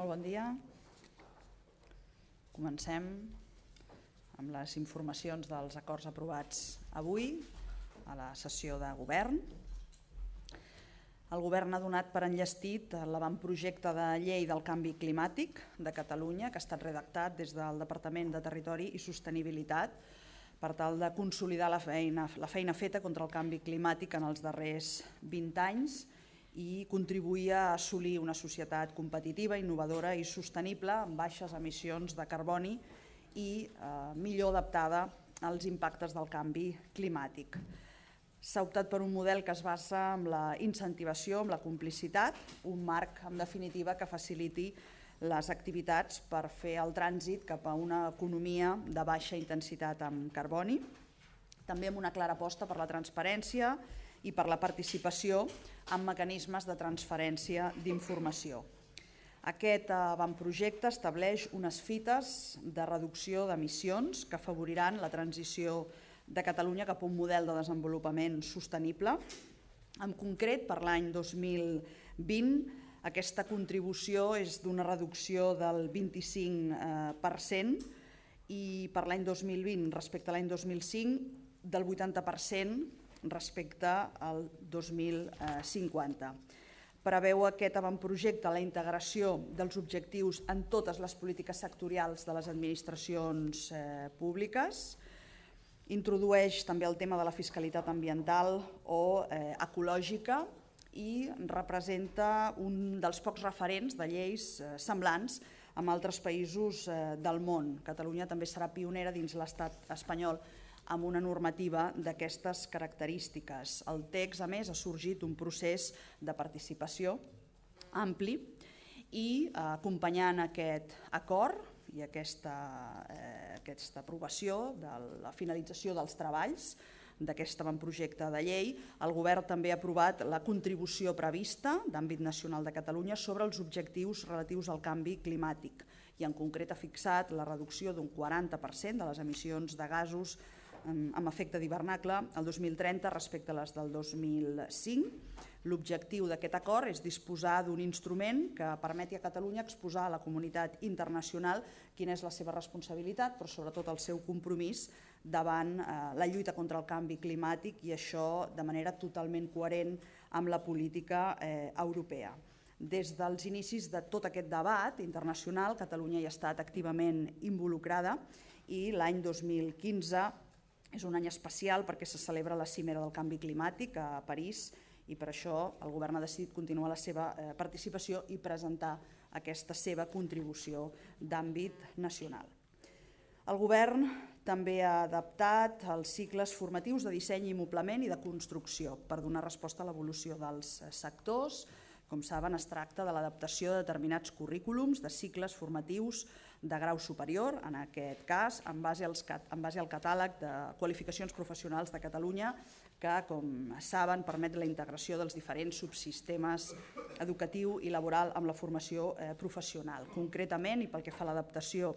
Molt bon dia. Comencem amb les informacions dels acords aprovats avui a la sessió de govern. El govern ha donat per enllestit l'avantprojecte de llei del canvi climàtic de Catalunya, que ha estat redactat des del Departament de Territori i Sostenibilitat per tal de consolidar la feina feta contra el canvi climàtic en els darrers 20 anys i contribuir a assolir una societat competitiva, innovadora i sostenible amb baixes emissions de carboni i millor adaptada als impactes del canvi climàtic. S'ha optat per un model que es basa en la incentivació, en la complicitat, un marc, en definitiva, que faciliti les activitats per fer el trànsit cap a una economia de baixa intensitat en carboni, també amb una clara aposta per la transparència i per la participació en mecanismes de transferència d'informació. Aquest avantprojecte estableix unes fites de reducció d'emissions que afavoriran la transició de Catalunya cap a un model de desenvolupament sostenible. En concret, per l'any 2020, aquesta contribució és d'una reducció del 25% i per l'any 2020 respecte a l'any 2005 del 80% respecte al 2050. Preveu aquest avantprojecte la integració dels objectius en totes les polítiques sectorials de les administracions públiques, introdueix també el tema de la fiscalitat ambiental o ecològica i representa un dels pocs referents de lleis semblants amb altres països del món. Catalunya també serà pionera dins l'estat espanyol amb una normativa d'aquestes característiques. El text, a més, ha sorgit un procés de participació ampli i acompanyant aquest acord i aquesta aprovació de la finalització dels treballs d'aquest avantprojecte de llei, el govern també ha aprovat la contribució prevista d'àmbit nacional de Catalunya sobre els objectius relatius al canvi climàtic i en concret ha fixat la reducció d'un 40% de les emissions de gasos amb efecte d'hivernacle el 2030 respecte a les del 2005. L'objectiu d'aquest acord és disposar d'un instrument que permeti a Catalunya exposar a la comunitat internacional quina és la seva responsabilitat, però sobretot el seu compromís davant la lluita contra el canvi climàtic i això de manera totalment coherent amb la política europea. Des dels inicis de tot aquest debat internacional, Catalunya hi ha estat activament involucrada i l'any 2015 és un any especial perquè se celebra la cimera del canvi climàtic a París i per això el govern ha decidit continuar la seva participació i presentar aquesta seva contribució d'àmbit nacional. El govern també ha adaptat els cicles formatius de disseny i moblament i de construcció per donar resposta a l'evolució dels sectors. Com saben, es tracta de l'adaptació de determinats currículums de cicles formatius de grau superior, en aquest cas, en base al catàleg de qualificacions professionals de Catalunya, que, com saben, permet la integració dels diferents subsistemes educatiu i laboral amb la formació professional. Concretament, i pel que fa a l'adaptació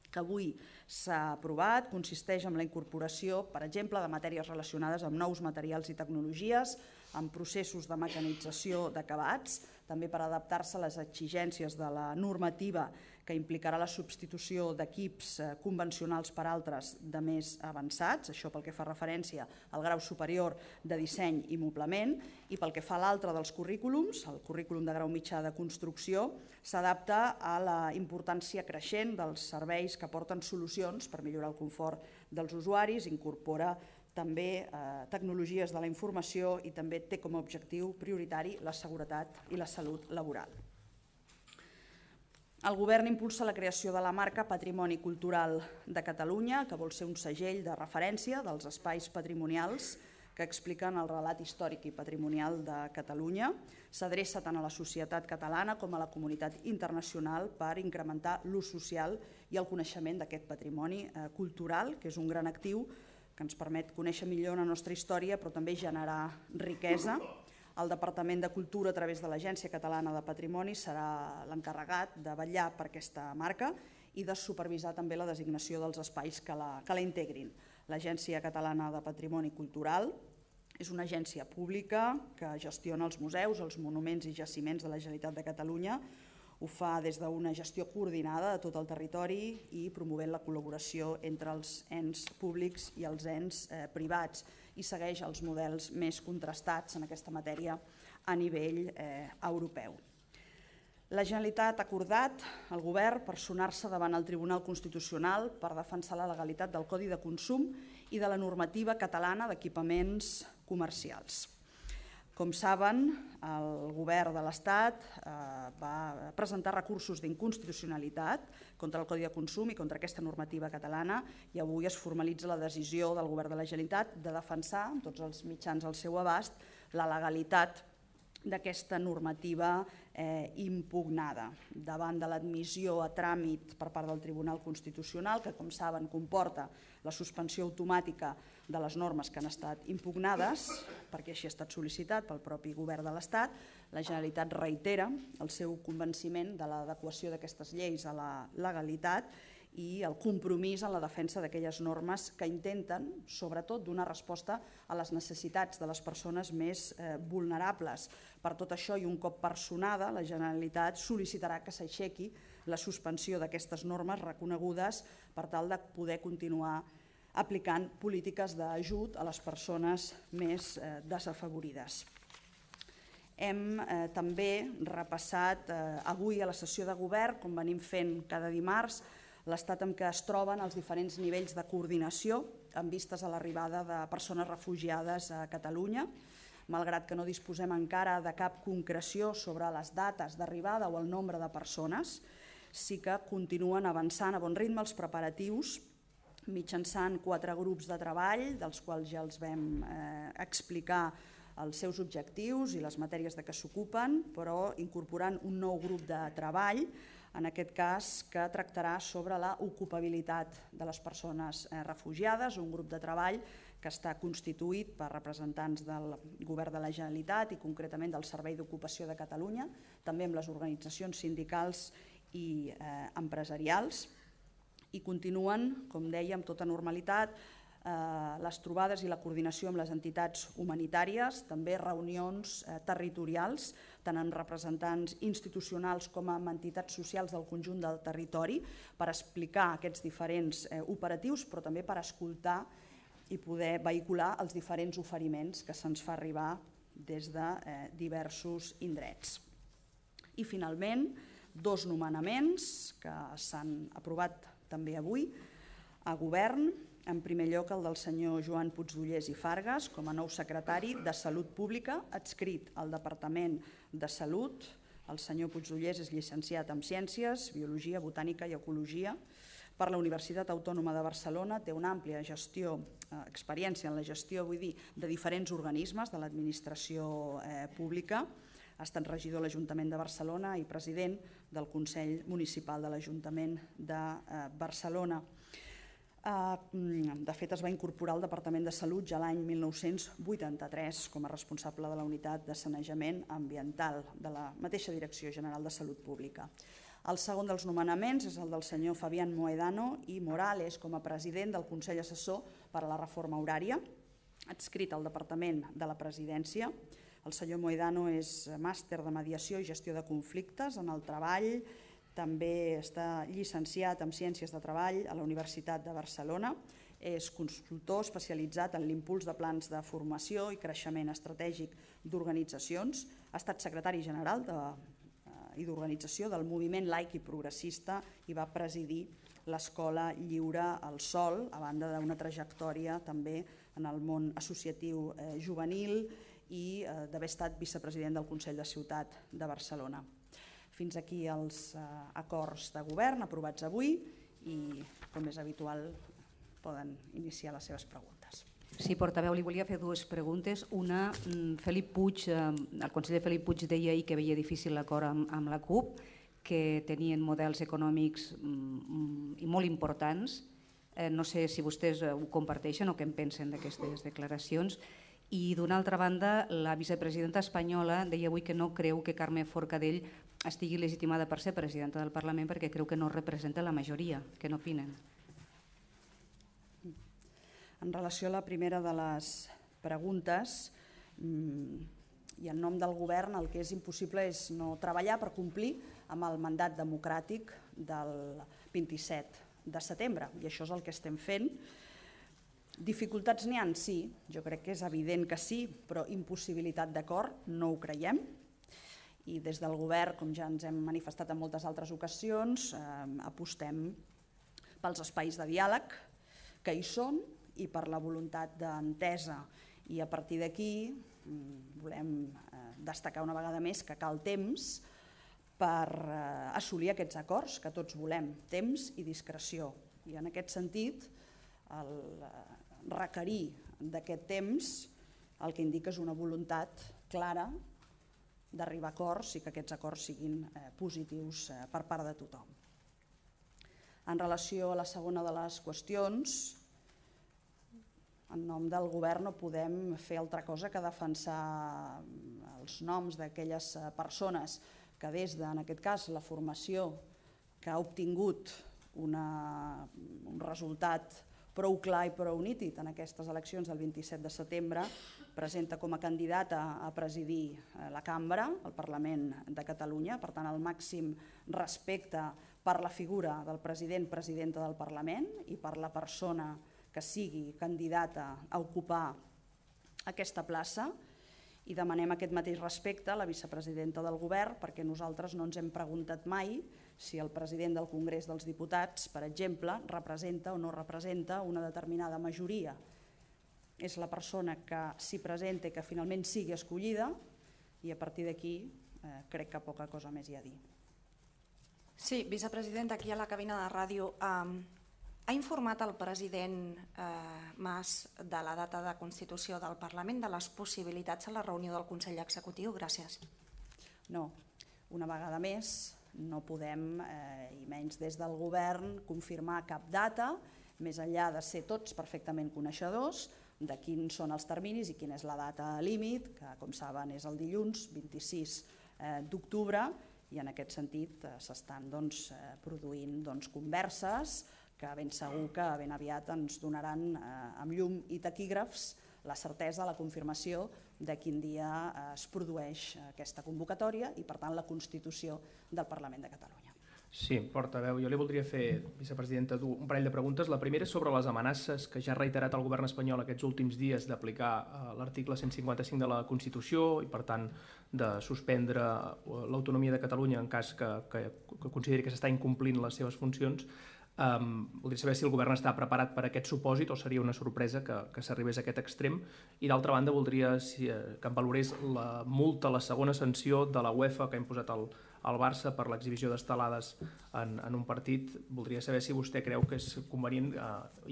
que avui s'ha aprovat, consisteix en la incorporació, per exemple, de matèries relacionades amb nous materials i tecnologies, amb processos de mecanització d'acabats, també per adaptar-se a les exigències de la normativa que implicarà la substitució d'equips convencionals per altres de més avançats, això pel que fa referència al grau superior de disseny i moblament, i pel que fa a l'altre dels currículums, el currículum de grau mitjà de construcció, s'adapta a la importància creixent dels serveis que aporten solucions per millorar el confort dels usuaris, incorpora també tecnologies de la informació i també té com a objectiu prioritari la seguretat i la salut laboral. El govern impulsa la creació de la marca Patrimoni Cultural de Catalunya, que vol ser un segell de referència dels espais patrimonials que expliquen el relat històric i patrimonial de Catalunya. S'adreça tant a la societat catalana com a la comunitat internacional per incrementar l'ús social i el coneixement d'aquest patrimoni cultural, que és un gran actiu que ens permet conèixer millor la nostra història, però també generar riquesa. El Departament de Cultura, a través de l'Agència Catalana de Patrimoni, serà l'encarregat de vetllar per aquesta marca i de supervisar també la designació dels espais que la integrin. L'Agència Catalana de Patrimoni Cultural és una agència pública que gestiona els museus, els monuments i jaciments de la Generalitat de Catalunya, Ho fa des d'una gestió coordinada de tot el territori i promovent la col·laboració entre els ens públics i els ens privats i segueix els models més contrastats en aquesta matèria a nivell europeu. La Generalitat ha acordat el Govern personar-se davant el Tribunal Constitucional per defensar la legalitat del Codi de Consum i de la normativa catalana d'equipaments comercials. Com saben, el Govern de l'Estat va presentar recursos d'inconstitucionalitat contra el Codi de Consum i contra aquesta normativa catalana i avui es formalitza la decisió del Govern de la Generalitat de defensar, amb tots els mitjans al seu abast, la legalitat d'aquesta normativa impugnada davant de l'admissió a tràmit per part del Tribunal Constitucional, que, com saben, comporta la suspensió automàtica de les normes que han estat impugnades, perquè així ha estat sol·licitat pel propi Govern de l'Estat. La Generalitat reitera el seu convenciment de l'adequació d'aquestes lleis a la legalitat i el compromís en la defensa d'aquelles normes que intenten, sobretot, donar resposta a les necessitats de les persones més vulnerables. Per tot això, i un cop personada, la Generalitat sol·licitarà que s'aixequi la suspensió d'aquestes normes reconegudes per tal de poder continuar aplicant polítiques d'ajut a les persones més desafavorides. Hem també repassat avui a la sessió de Govern, com venim fent cada dimarts, l'estat en què es troben els diferents nivells de coordinació en vistes a l'arribada de persones refugiades a Catalunya. Malgrat que no disposem encara de cap concreció sobre les dates d'arribada o el nombre de persones, sí que continuen avançant a bon ritme els preparatius mitjançant 4 grups de treball, dels quals ja els vam explicar els seus objectius i les matèries de què s'ocupen, però incorporant un nou grup de treball, en aquest cas que tractarà sobre l'ocupabilitat de les persones refugiades, un grup de treball que està constituït per representants del Govern de la Generalitat i concretament del Servei d'Ocupació de Catalunya, també amb les organitzacions sindicals i empresarials, i continuen, com deia, amb tota normalitat, les trobades i la coordinació amb les entitats humanitàries, també reunions territorials, tant amb representants institucionals com amb entitats socials del conjunt del territori, per explicar aquests diferents operatius, però també per escoltar i poder vehicular els diferents oferiments que se'ns fa arribar des de diversos indrets. I finalment, 2 nomenaments que s'han aprovat també avui a Govern. En primer lloc, el del senyor Joan Puigdollers i Fargas com a nou secretari de Salut Pública, adscrit al Departament de Salut. El senyor Puigdollers és llicenciat en Ciències, Biologia, Botànica i Ecologia per la Universitat Autònoma de Barcelona. Té una àmplia experiència en la gestió, de diferents organismes de l'administració pública. Ha estat regidor de l'Ajuntament de Barcelona i president del Consell Municipal de l'Ajuntament de Barcelona. De fet, es va incorporar al Departament de Salut ja l'any 1983 com a responsable de la unitat de sanejament ambiental de la mateixa Direcció General de Salut Pública. El segon dels nomenaments és el del senyor Fabián Mohedano i Morales com a president del Consell Assessor per a la Reforma Horària, adscrit al Departament de la Presidència. El senyor Mohedano és màster de Mediació i Gestió de Conflictes en el Treball. També està llicenciat en Ciències de Treball a la Universitat de Barcelona. És consultor especialitzat en l'impuls de plans de formació i creixement estratègic d'organitzacions. Ha estat secretari general i d'organització del moviment laic i progressista i va presidir l'Escola Lliure al Sol, a banda d'una trajectòria també en el món associatiu juvenil i d'haver estat vicepresident del Consell de Ciutat de Barcelona. Fins aquí els acords de govern aprovats avui i, com és habitual, poden iniciar les seves preguntes. Sí, portaveu, li volia fer 2 preguntes. Una, Felip Puig, el conseller Felip Puig deia ahir que veia difícil l'acord amb la CUP, que tenien models econòmics molt importants. No sé si vostès ho comparteixen o què en pensen d'aquestes declaracions. I d'una altra banda, la vicepresidenta espanyola deia avui que no creu que Carme Forcadell estigui legitimada per ser presidenta del Parlament perquè creu que no representa la majoria. Què n'opinen? En relació a la primera de les preguntes, i en nom del govern el que és impossible és no treballar per complir amb el mandat democràtic del 27 de setembre, i això és el que estem fent. Dificultats n'hi ha? Sí, jo crec que és evident que sí, però impossibilitat d'acord no ho creiem. I des del govern, com ja ens hem manifestat en moltes altres ocasions, apostem pels espais de diàleg que hi són i per la voluntat d'entesa. I a partir d'aquí volem destacar una vegada més que cal temps per assolir aquests acords que tots volem, temps i discreció. I en aquest sentit, el requerir d'aquest temps el que indica és una voluntat clara d'arribar a acords i que aquests acords siguin positius per part de tothom. En relació a la segona de les qüestions, en nom del govern no podem fer altra cosa que defensar els noms d'aquelles persones que des de, en aquest cas, la formació que ha obtingut un resultat prou clar i prou nítid en aquestes eleccions del 27 de setembre, presenta com a candidata a presidir la cambra, el Parlament de Catalunya. Per tant, el màxim respecte per la figura del president, presidenta del Parlament i per la persona que sigui candidata a ocupar aquesta plaça, i demanem aquest mateix respecte a la vicepresidenta del govern, perquè nosaltres no ens hem preguntat mai si el president del Congrés dels Diputats, per exemple, representa o no representa una determinada majoria. És la persona que s'hi presenta i que finalment sigui escollida, i a partir d'aquí crec que poca cosa més hi ha a dir. Sí, vicepresident, aquí a la cabina de ràdio, ha informat el president Mas de la data de constitució del Parlament, de les possibilitats a la reunió del Consell Executiu? Gràcies. No, una vegada més no podem, i menys des del govern, confirmar cap data, més enllà de ser tots perfectament coneixedors de quins són els terminis i quina és la data límit, que com saben és el dilluns 26 d'octubre, i en aquest sentit s'estan produint converses que ben segur que ben aviat ens donaran amb llum i taquígrafs la certesa, la confirmació de quin dia es produeix aquesta convocatòria i, per tant, la constitució del Parlament de Catalunya. Sí, portaveu, jo li voldria fer, vicepresidenta, un parell de preguntes. La primera és sobre les amenaces que ja ha reiterat el govern espanyol aquests últims dies d'aplicar l'article 155 de la Constitució i, per tant, de suspendre l'autonomia de Catalunya en cas que consideri que s'està incomplint les seves funcions. Voldria saber si el govern està preparat per a aquest supòsit o seria una sorpresa que s'arribés a aquest extrem. I d'altra banda voldria que em valorés la multa, la segona sanció de la UEFA que ha imposat al Barça per l'exhibició d'estelades en un partit. Voldria saber si vostè creu que és convenient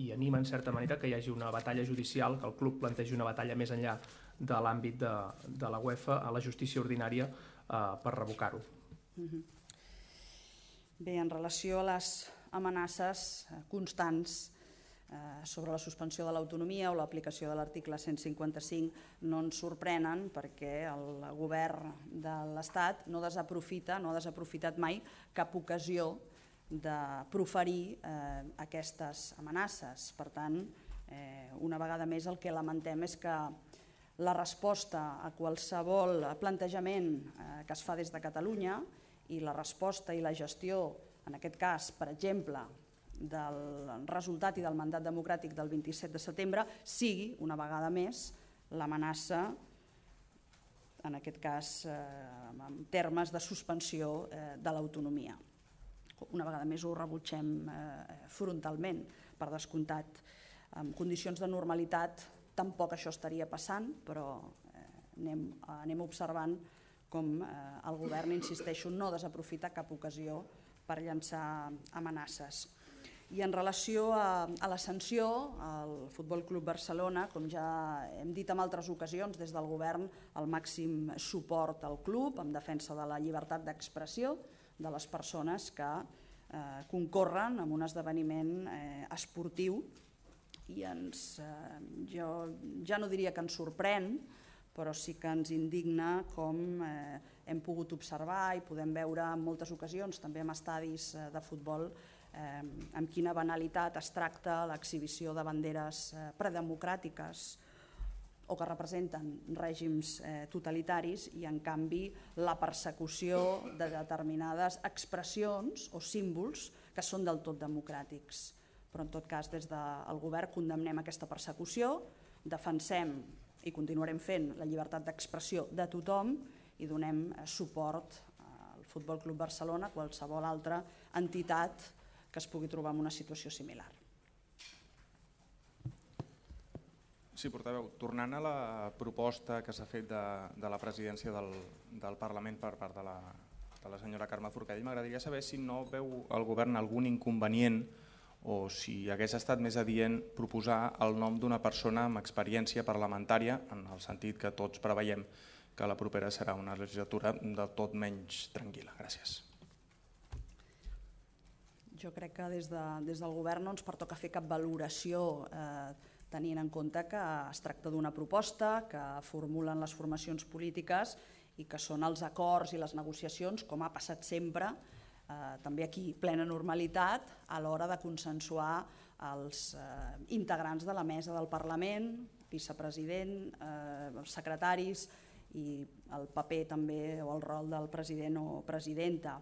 i anima en certa manera que hi hagi una batalla judicial, que el club plantegi una batalla més enllà de l'àmbit de la UEFA a la justícia ordinària per revocar-ho. Bé, en relació a les amenaces constants sobre la suspensió de l'autonomia o l'aplicació de l'article 155 no ens sorprenen perquè el govern de l'Estat no ha desaprofitat mai cap ocasió de proferir aquestes amenaces. Per tant, una vegada més el que lamentem és que la resposta a qualsevol plantejament que es fa des de Catalunya i la resposta i la gestió, en aquest cas, per exemple, del resultat i del mandat democràtic del 27 de setembre, sigui, una vegada més, l'amenaça, en aquest cas, en termes de suspensió de l'autonomia. Una vegada més ho rebutgem frontalment, per descomptat. En condicions de normalitat tampoc això estaria passant, però anem observant com el govern, insisteixo, no desaprofita cap ocasió per llançar amenaces. I en relació a la sanció, el Futbol Club Barcelona, com ja hem dit en altres ocasions, des del govern el màxim suport al club en defensa de la llibertat d'expressió de les persones que concorren en un esdeveniment esportiu, i jo ja no diria que ens sorprèn, però sí que ens indigna com hem pogut observar i podem veure en moltes ocasions, també en estadis de futbol, amb quina banalitat es tracta l'exhibició de banderes predemocràtiques o que representen règims totalitaris i, en canvi, la persecució de determinades expressions o símbols que són del tot democràtics. Però, en tot cas, des del govern condemnem aquesta persecució, defensem i continuarem fent la llibertat d'expressió de tothom i donem suport al Futbol Club Barcelona, a qualsevol altra entitat que es pugui trobar en una situació similar. Sí, portaveu, tornant a la proposta que s'ha fet de la presidència del Parlament per part de la senyora Carme Forcadell, m'agradaria saber si no veu el govern algun inconvenient o si hagués estat més adient proposar el nom d'una persona amb experiència parlamentària, en el sentit que tots preveiem que la propera serà una legislatura del tot menys tranquil·la. Gràcies. Jo crec que des del govern no ens pertoca fer cap valoració tenint en compte que es tracta d'una proposta que formulen les formacions polítiques i que són els acords i les negociacions, com ha passat sempre, també aquí plena normalitat, a l'hora de consensuar els integrants de la mesa del Parlament, vicepresident, els secretaris i el paper també o el rol del president o presidenta.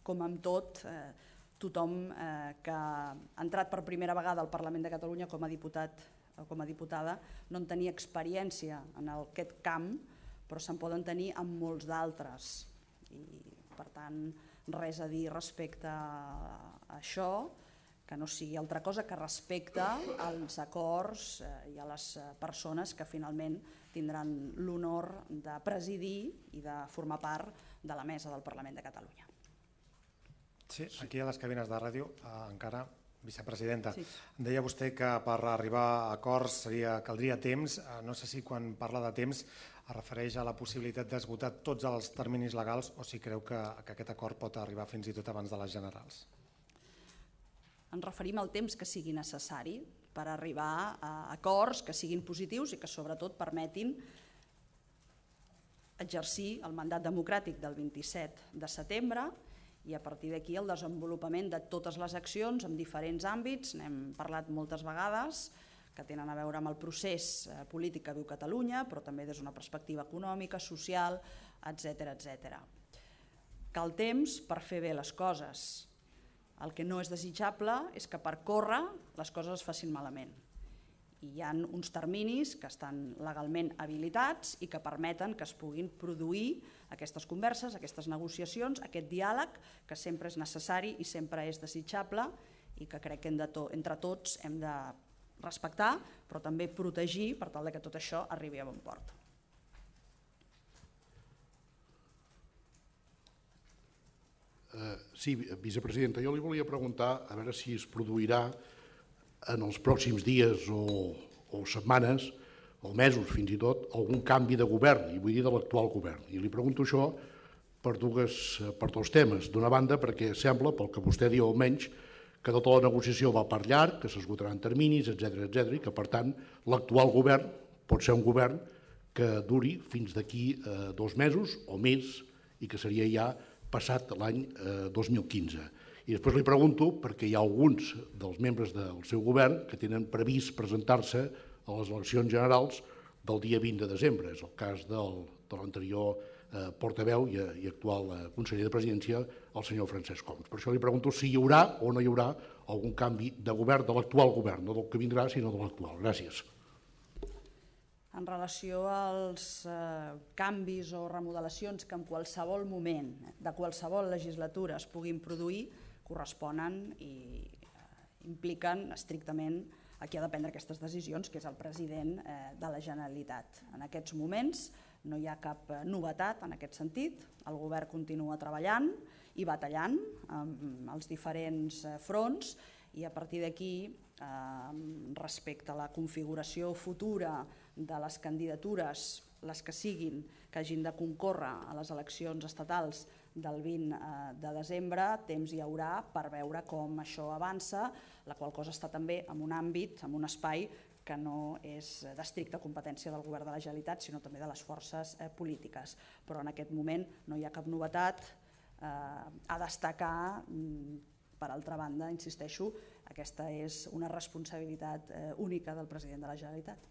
Com amb tot, tothom que ha entrat per primera vegada al Parlament de Catalunya com a diputat o com a diputada no en tenia experiència en aquest camp, però se'n poden tenir en molts d'altres. I, per tant, res a dir respecte a això, que no sigui altra cosa que respecte als acords i a les persones que finalment tindran l'honor de presidir i de formar part de la mesa del Parlament de Catalunya. Sí, aquí a les cabines de ràdio, encara, vicepresidenta, Sí. deia vostè que per arribar a acords caldria temps. No sé si quan parla de temps es refereix a la possibilitat d'esgotar tots els terminis legals o si creu que aquest acord pot arribar fins i tot abans de les generals. Ens referim al temps que sigui necessari per arribar a acords que siguin positius i que sobretot permetin exercir el mandat democràtic del 27 de setembre i a partir d'aquí el desenvolupament de totes les accions en diferents àmbits, n'hem parlat moltes vegades, que tenen a veure amb el procés polític que viu Catalunya, però també des d'una perspectiva econòmica, social, etc. Cal temps per fer bé les coses. El que no és desitjable és que per córrer les coses es facin malament. I hi ha uns terminis que estan legalment habilitats i que permeten que es puguin produir aquestes converses, aquestes negociacions, aquest diàleg que sempre és necessari i sempre és desitjable i que crec que entre tots hem de respectar, però també protegir per tal que tot això arribi a bon port. Sí, vicepresidenta, jo li volia preguntar a veure si es produirà en els pròxims dies o setmanes o mesos fins i tot algun canvi de govern, i vull dir de l'actual govern. I li pregunto això per dos temes. D'una banda perquè sembla, pel que vostè diu almenys, que tota la negociació va per llarg, que s'esgotaran terminis, etc i que per tant l'actual govern pot ser un govern que duri fins d'aquí 2 mesos o més i que seria ja passat l'any 2015. I després li pregunto perquè hi ha alguns dels membres del seu govern que tenen previst presentar-se a les eleccions generals del dia 20 de desembre. És el cas de l'anterior portaveu i actual conseller de Presidència, el senyor Francesc Homs. Per això li pregunto si hi haurà o no hi haurà algun canvi de govern, de l'actual govern, no del que vindrà, sinó de l'actual. Gràcies. En relació als canvis o remodelacions que en qualsevol moment de qualsevol legislatura es puguin produir, corresponen i impliquen estrictament a qui ha de prendre aquestes decisions, que és el president de la Generalitat. En aquests moments no hi ha cap novetat en aquest sentit. El govern continua treballant i batallant en els diferents fronts i a partir d'aquí, respecte a la configuració futura de les candidatures, les que siguin, que hagin de concórrer a les eleccions estatals del 20 de desembre, temps hi haurà per veure com això avança, la qual cosa està també en un àmbit, en un espai que no és d'estricta competència del govern de la Generalitat, sinó també de les forces polítiques. Però en aquest moment no hi ha cap novetat a destacar. Per altra banda, insisteixo, aquesta és una responsabilitat única del president de la Generalitat.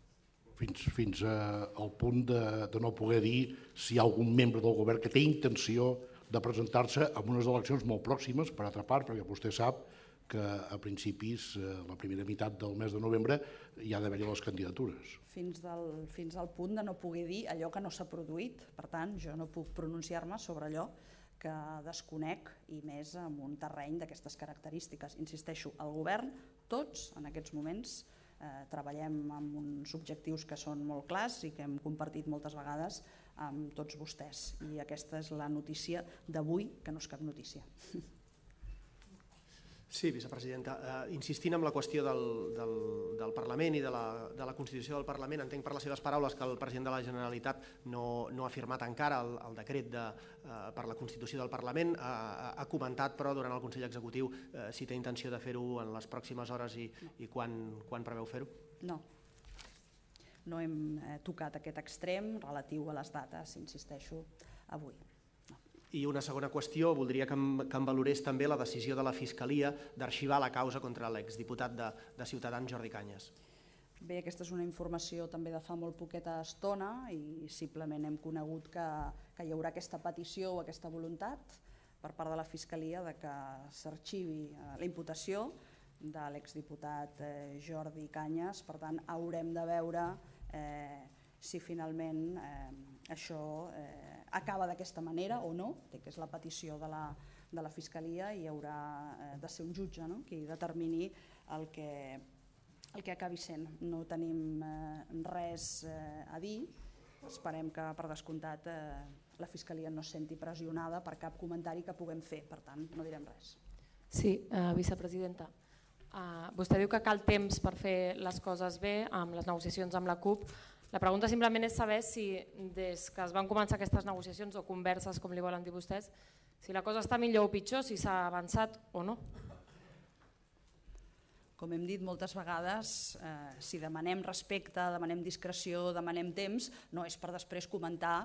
fins al punt de no poder dir si hi ha algun membre del govern que té intenció de presentar-se en unes eleccions molt pròximes, per altra part, perquè vostè sap que a principis, la primera meitat del mes de novembre, hi ha d'haver-hi les candidatures. Fins al punt de no poder dir allò que no s'ha produït. Per tant, jo no puc pronunciar-me sobre allò que desconec, i més en un terreny d'aquestes característiques. Insisteixo, el govern, tots en aquests moments, treballem amb uns objectius que són molt clars i que hem compartit moltes vegades amb tots vostès. I aquesta és la notícia d'avui, que no és cap notícia. Sí, vicepresidenta. Insistint en la qüestió del Parlament i de la Constitució del Parlament, entenc per les seves paraules que el president de la Generalitat no ha firmat encara el decret per la Constitució del Parlament. Ha comentat, però, durant el Consell Executiu si té intenció de fer-ho en les pròximes hores i quan preveu fer-ho? No. No hem tocat aquest extrem relatiu a les dates, insisteixo, avui. I una segona qüestió, voldria que em valorés també la decisió de la Fiscalia d'arxivar la causa contra l'exdiputat de Ciutadans, Jordi Cañas. Bé, aquesta és una informació també de fa molt poqueta estona i simplement hem conegut que hi haurà aquesta petició o aquesta voluntat per part de la Fiscalia de que s'arxivi la imputació de l'exdiputat Jordi Cañas. Per tant, haurem de veure si finalment això acaba d'aquesta manera o no, que és la petició de la Fiscalia, i haurà de ser un jutge qui determini el que acabi sent. No tenim res a dir, esperem que per descomptat la Fiscalia no es senti pressionada per cap comentari que puguem fer, per tant no direm res. Sí, vicepresidenta. Vostè diu que cal temps per fer les coses bé amb les negociacions amb la CUP. La pregunta simplement és saber si des que es van començar aquestes negociacions o converses, com li volen dir vostès, si la cosa està millor o pitjor, si s'ha avançat o no. Com hem dit moltes vegades, si demanem respecte, demanem discreció, demanem temps, no és per després comentar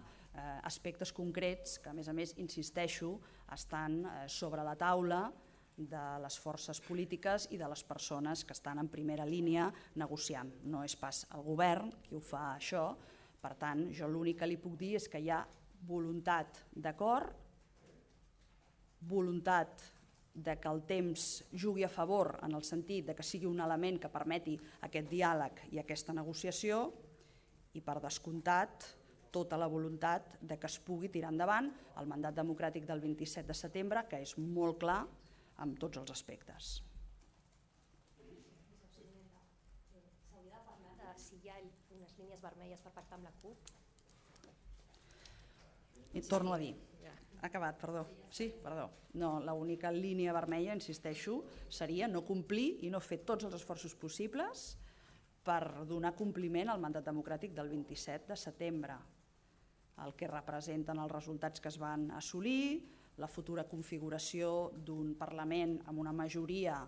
aspectes concrets que, a més, insisteixo, estan sobre la taula de les forces polítiques i de les persones que estan en primera línia negociant. No és pas el govern qui ho fa això, per tant, jo l'únic que li puc dir és que hi ha voluntat d'acord, voluntat de que el temps jugui a favor en el sentit de que sigui un element que permeti aquest diàleg i aquesta negociació, i per descomptat tota la voluntat de que es pugui tirar endavant el mandat democràtic del 27 de setembre, que és molt clar amb tots els aspectes. S'hauria de parlar de si hi ha unes línies vermelles per pactar amb la CUP? Torno a dir, acabat, perdó. Sí, perdó. No, l'única línia vermella, insisteixo, seria no complir i no fer tots els esforços possibles per donar compliment al mandat democràtic del 27 de setembre, el que representen els resultats que es van assolir, la futura configuració d'un Parlament amb una majoria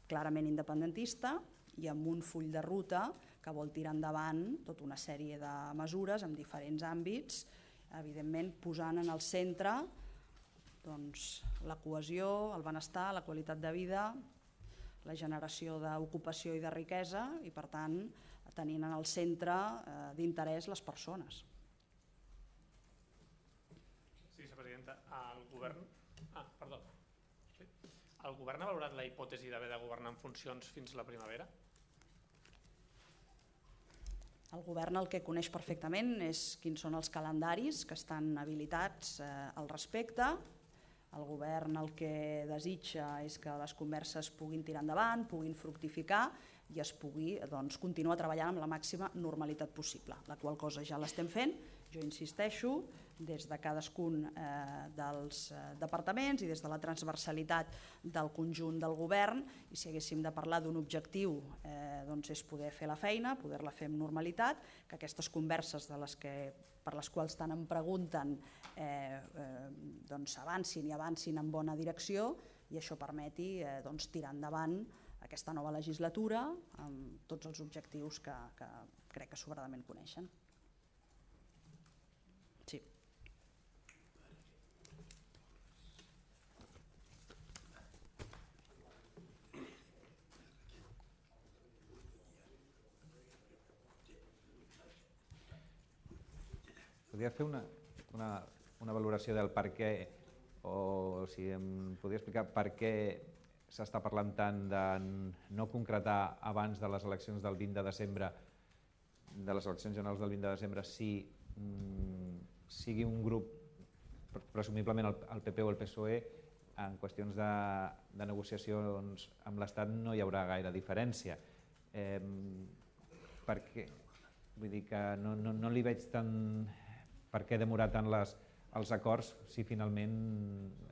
clarament independentista i amb un full de ruta que vol tirar endavant tota una sèrie de mesures en diferents àmbits, evidentment posant en el centre la cohesió, el benestar, la qualitat de vida, la generació d'ocupació i de riquesa i, per tant, tenint en el centre d'interès les persones. Sí, vicepresidenta, el govern ha valorat la hipòtesi d'haver de governar en funcions fins la primavera? El govern el que coneix perfectament és quins són els calendaris que estan habilitats al respecte. El govern el que desitja és que les converses puguin tirar endavant, puguin fructificar i es pugui continuar treballant amb la màxima normalitat possible, la qual cosa ja l'estem fent, jo insisteixo, des de cadascun dels departaments i des de la transversalitat del conjunt del govern, i si haguéssim de parlar d'un objectiu és poder fer la feina, poder-la fer amb normalitat, que aquestes converses per les quals tant em pregunten avancin i avancin en bona direcció i això permeti tirar endavant aquesta nova legislatura amb tots els objectius que crec que sobradament coneixen. Sí. voldria fer una valoració del per què, o si em podria explicar per què s'està parlant tant de no concretar abans de les eleccions del 20 de desembre, de les eleccions generals del 20 de desembre, si sigui un grup, presumiblement el PP o el PSOE, en qüestions de negociacions amb l'Estat no hi haurà gaire diferència. Per què? Vull dir que no li veig tant per què demorar tant els acords si finalment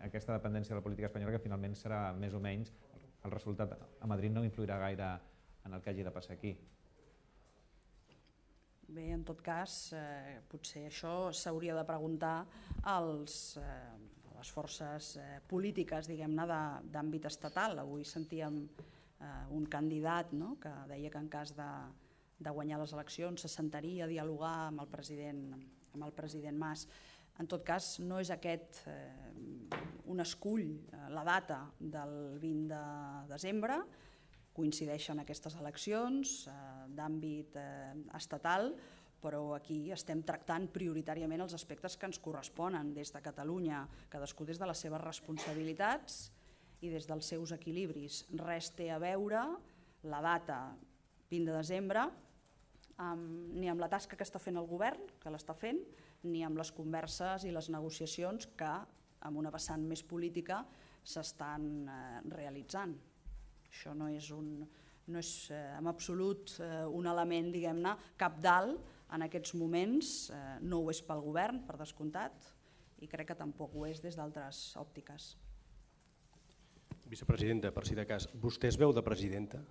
aquesta dependència de la política espanyola, que finalment serà més o menys, el resultat a Madrid no influirà gaire en el que hagi de passar aquí. Bé, en tot cas, potser això s'hauria de preguntar a les forces polítiques, diguem-ne, d'àmbit estatal. Avui sentíem un candidat que deia que en cas de guanyar les eleccions se sentaria a dialogar amb el president Mas. En tot cas, no és aquest un escull, la data del 20 de desembre, coincideixen aquestes eleccions d'àmbit estatal, però aquí estem tractant prioritàriament els aspectes que ens corresponen des de Catalunya, cadascú des de les seves responsabilitats i des dels seus equilibris. Res té a veure la data 20 de desembre ni amb la tasca que està fent el govern, que l'està fent, ni amb les converses i les negociacions que, amb una vessant més política, s'estan realitzant. Això no és en absolut un element, diguem-ne, cabdal en aquests moments, no ho és pel govern, per descomptat, i crec que tampoc ho és des d'altres òptiques. Vicepresidenta, per si de cas, vostè es veu de presidenta?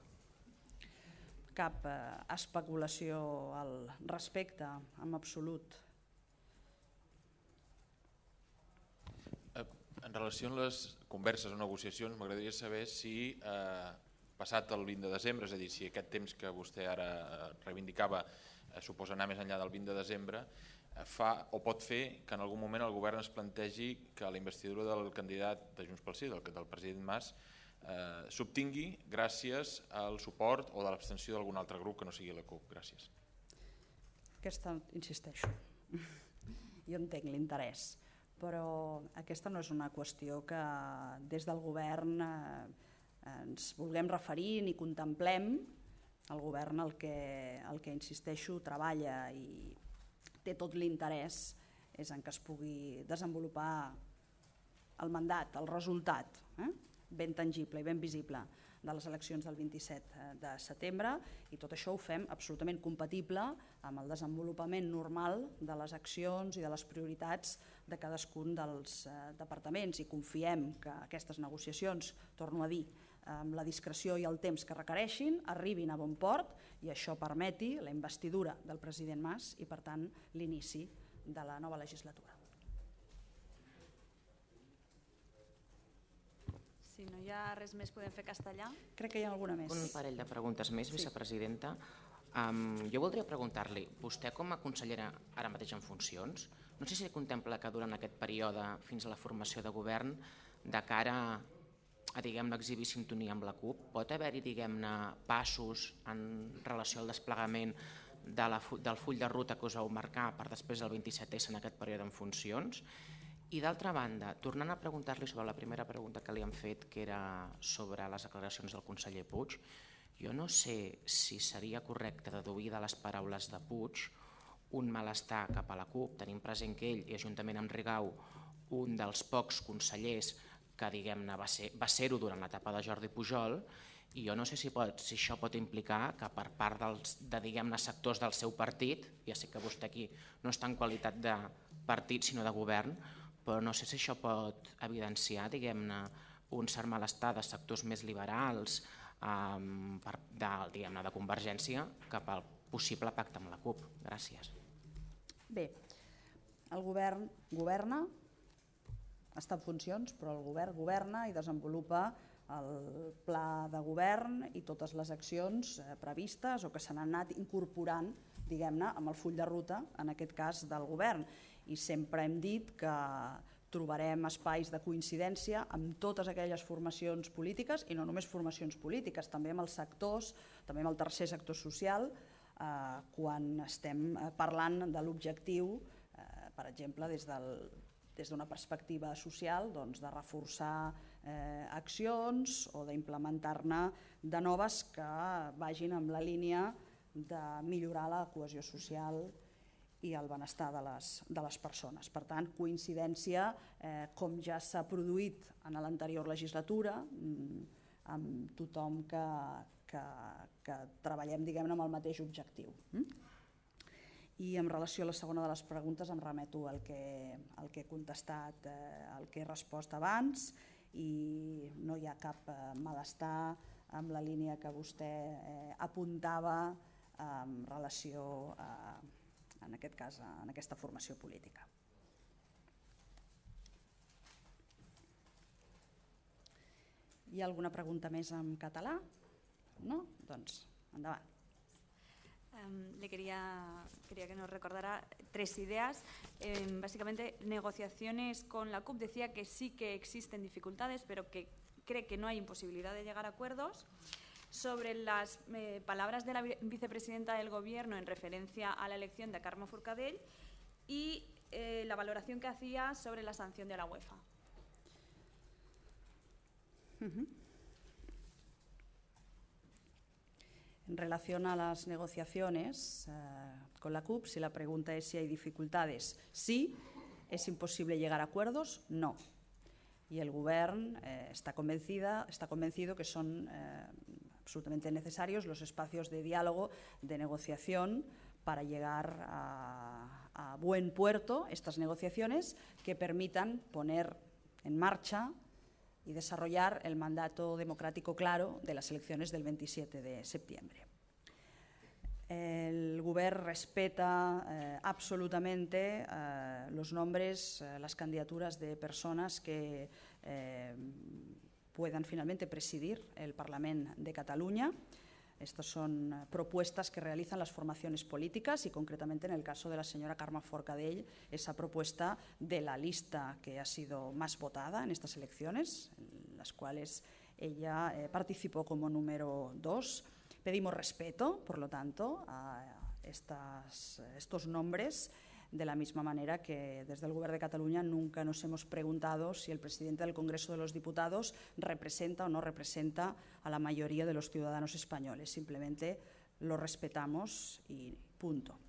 Cap especulació al respecte, en absolut. En relació amb les converses o negociacions, m'agradaria saber si, passat el 20 de desembre, és a dir, si aquest temps que vostè ara reivindicava suposa anar més enllà del 20 de desembre, fa o pot fer que en algun moment el govern es plantegi que la investidura del candidat de Junts pel Sí, del president Mas, s'obtingui gràcies al suport o de l'abstenció d'algun altre grup que no sigui la CUP. Gràcies. Aquesta, insisteixo, jo entenc l'interès, però aquesta no és una qüestió que des del govern ens vulguem referir ni contemplem. El govern el que insisteixo, treballa i té tot l'interès és en que es pugui desenvolupar el mandat, el resultat ben tangible i ben visible de les eleccions del 27 de setembre, i tot això ho fem absolutament compatible amb el desenvolupament normal de les accions i de les prioritats de cadascun dels departaments, i confiem que aquestes negociacions, torno a dir, amb la discreció i el temps que requereixin, arribin a bon port i això permeti la investidura del president Mas i, per tant, l'inici de la nova legislatura. Si no hi ha res més, podem fer castellà? Crec que hi ha alguna més. Un parell de preguntes més, vicepresidenta. Jo voldria preguntar-li, vostè com a consellera ara mateix en funcions, no sé si contempla que durant aquest període fins a la formació de govern, de cara a exhibir sintonia amb la CUP, pot haver-hi passos en relació al desplegament del full de ruta que us vau marcar per després del 27S en aquest període en funcions? I d'altra banda, tornant a preguntar-li sobre la primera pregunta que li han fet, que era sobre les declaracions del conseller Puig, jo no sé si seria correcte deduir de les paraules de Puig un malestar cap a la CUP, tenint present que ell, i juntament amb Rigau, un dels pocs consellers que va ser-ho durant l'etapa de Jordi Pujol, i jo no sé si això pot implicar que per part de sectors del seu partit, ja sé que vostè aquí no està en qualitat de partit sinó de govern, però no sé si això pot evidenciar un cert malestar de sectors més liberals de Convergència cap al possible pacte amb la CUP. Gràcies. Bé, el govern governa, està en funcions, però el govern governa i desenvolupa el pla de govern i totes les accions previstes o que s'han anat incorporant, diguem-ne, amb el full de ruta, en aquest cas del govern. I sempre hem dit que trobarem espais de coincidència amb totes aquelles formacions polítiques, i no només formacions polítiques, també amb els sectors, també amb el tercer sector social, quan estem parlant de l'objectiu per exemple, des d'una perspectiva social, de reforçar accions o d'implementar-ne de noves que vagin en la línia de millorar la cohesió social i el benestar de les persones. Per tant, coincidència, com ja s'ha produït en l'anterior legislatura, amb tothom que treballem, diguem-ne, amb el mateix objectiu. I en relació a la segona de les preguntes em remeto al que he contestat, al que he respost abans, i no hi ha cap malestar amb la línia que vostè apuntava en relació a, en aquest cas, en aquesta formació política. Hi ha alguna pregunta més en català? No? Doncs endavant. Le quería que nos recordara 3 ideas. Básicamente, negociaciones con la CUP. Decía que sí que existen dificultades, pero que cree que no hay imposibilidad de llegar a acuerdos. Sobre las palabras de la vicepresidenta del Gobierno en referencia a la elección de Carme Forcadell y la valoración que hacía sobre la sanción de la UEFA. En relación a las negociaciones con la CUP, si la pregunta es si hay dificultades, sí. ¿Es imposible llegar a acuerdos? No. Y el Govern está convencido que son absolutamente necesarios los espacios de diálogo, de negociación, para llegar a buen puerto estas negociaciones que permitan poner en marcha y desarrollar el mandato democrático claro de las elecciones del 27 de septiembre. El Govern respeta absolutamente los nombres, las candidaturas de personas que puedan finalmente presidir el Parlament de Cataluña. Estas son propuestas que realizan las formaciones políticas y concretamente en el caso de la señora Carme Forcadell, esa propuesta de la lista que ha sido más votada en estas elecciones, en las cuales ella participó como número 2. Pedimos respeto, por lo tanto, a estos nombres, de la misma manera que desde el Govern de Cataluña nunca nos hemos preguntado si el presidente del Congreso de los Diputados representa o no representa a la mayoría de los ciudadanos españoles. Simplemente lo respetamos y punto.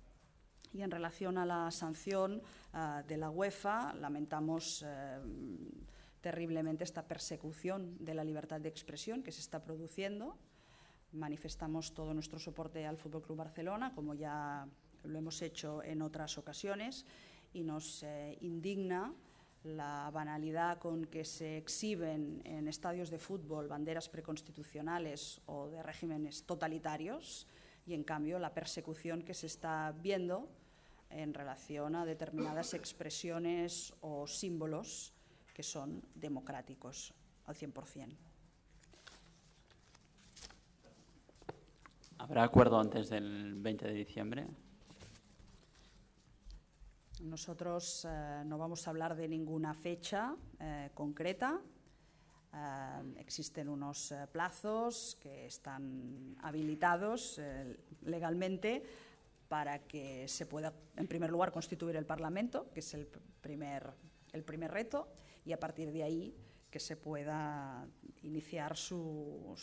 Y en relación a la sanción de la UEFA, lamentamos terriblemente esta persecución de la libertad de expresión que se está produciendo. Manifestamos todo nuestro soporte al Fútbol Club Barcelona, como ya lo hemos hecho en otras ocasiones, y nos indigna la banalidad con que se exhiben en estadios de fútbol banderas preconstitucionales o de regímenes totalitarios y, en cambio, la persecución que se está viendo en relación a determinadas expresiones o símbolos que son democráticos al 100%. ¿Habrá acuerdo antes del 20 de diciembre? Nosotros no vamos a hablar de ninguna fecha concreta. Existen unos plazos que están habilitados legalmente para que se pueda, en primer lugar, constituir el Parlamento, que es el primer reto, y a partir de ahí que se pueda iniciar su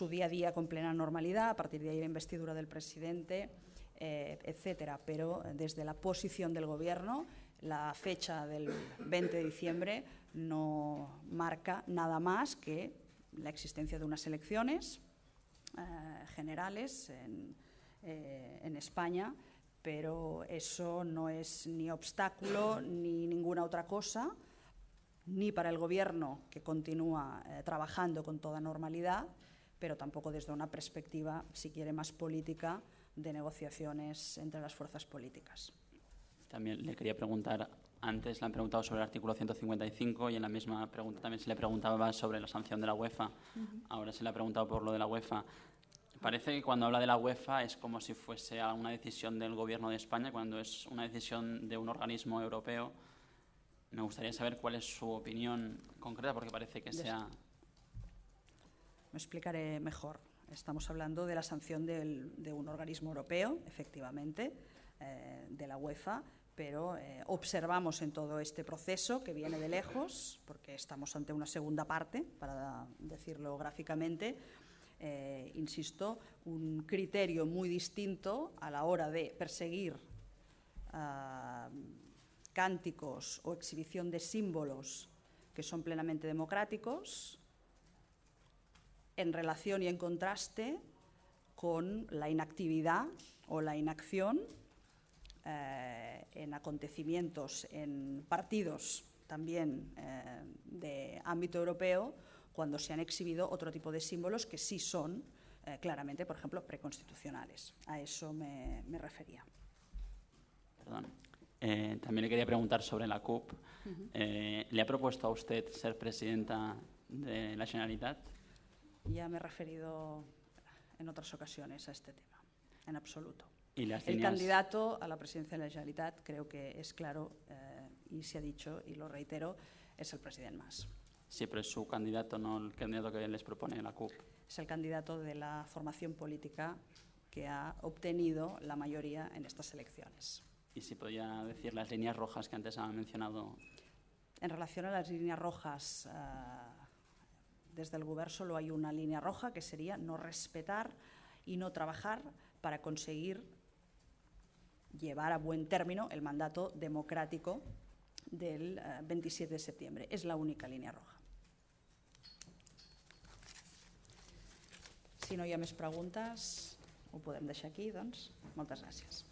día a día con plena normalidad, a partir de ahí la investidura del presidente, etcétera. Pero desde la posición del Gobierno, la fecha del 20 de diciembre no marca nada más que la existencia de unas elecciones generales en España, pero eso no es ni obstáculo ni ninguna otra cosa, ni para el Gobierno, que continúa trabajando con toda normalidad, pero tampoco desde una perspectiva, si quiere, más política, de negociaciones entre las fuerzas políticas. También le quería preguntar, antes le han preguntado sobre el artículo 155 y en la misma pregunta también se le preguntaba sobre la sanción de la UEFA. Ahora se le ha preguntado por lo de la UEFA. Parece que cuando habla de la UEFA es como si fuese una decisión del Gobierno de España, cuando es una decisión de un organismo europeo. Me gustaría saber cuál es su opinión concreta, porque parece que sea... Me explicaré mejor. Estamos hablando de la sanción de un organismo europeo, efectivamente, de la UEFA, pero observamos en todo este proceso que viene de lejos, porque estamos ante una segunda parte, para decirlo gráficamente, insisto, un criterio muy distinto a la hora de perseguir cánticos o exhibición de símbolos que son plenamente democráticos, en relación y en contraste con la inactividad o la inacción en acontecimientos en partidos también de ámbito europeo, cuando se han exhibido otro tipo de símbolos que sí son claramente, por ejemplo, preconstitucionales. A eso me refería. Perdón. También le quería preguntar sobre la CUP. ¿Le ha propuesto a usted ser presidenta de la Generalitat? Ya me he referido en otras ocasiones a este tema, en absoluto. ¿Y las El líneas? candidato a la presidencia de la Generalitat, creo que es claro y se ha dicho, y lo reitero, es el presidente Mas. Sí, pero es su candidato, no el candidato que les propone la CUP. Es el candidato de la formación política que ha obtenido la mayoría en estas elecciones. Y si podía decir las líneas rojas que antes ha mencionado. En relación a las líneas rojas, desde el Gobierno solo hay una línea roja, que sería no respetar y no trabajar para conseguir llevar a buen término el mandato democrático del 27 de septiembre. És la única línia roja. Si no hi ha més preguntes, ho podem deixar aquí, doncs. Moltes gràcies.